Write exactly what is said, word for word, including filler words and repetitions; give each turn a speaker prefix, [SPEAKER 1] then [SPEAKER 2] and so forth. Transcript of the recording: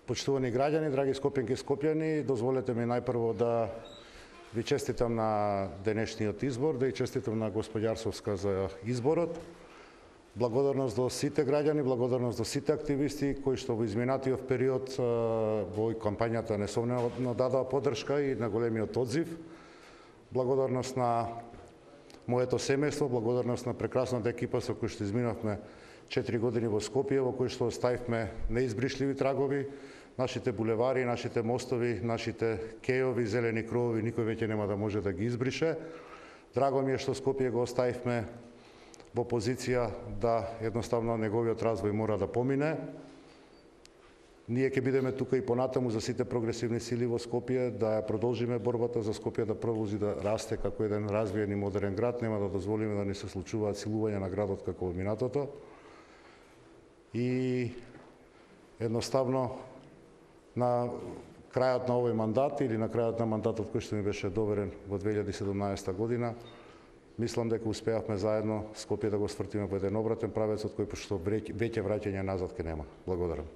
[SPEAKER 1] Почитувани граѓани, драги скопјанки и скопјани, дозволете ми најпрво да ви честитам на денешниот избор, да и честитам на госпоѓа Арсовска за изборот. Благодарност до сите граѓани, благодарност до сите активисти кои што во изминатиот период во кампањата несомнено дадоа поддршка и на големиот одзив. Благодарност на моето семејство, благодарност на прекрасната екипа со која што изминавме четири години во Скопје, во кој што оставивме неизбришливи трагови. Нашите булевари, нашите мостови, нашите кејови, зелени кровови никој веќе нема да може да ги избрише. Драго ми е што Скопје го оставивме во позиција да едноставно неговиот развој мора да помине. Ние ќе бидеме тука и понатаму за сите прогресивни сили во Скопје, да ја продолжиме борбата за Скопје да продолжи да расте како еден развиен и модерен град. Нема да дозволиме да ни се случуваат силувања на градот како во минатото. И едноставно на крајот на овој мандат или на крајот на мандатот кој што ми беше доверен во две илјади и седумнаесета година, мислам дека успеавме заедно Скопје да го свртиме во еден обратен правец од кој што веќе враќање назад ке нема. Благодарам.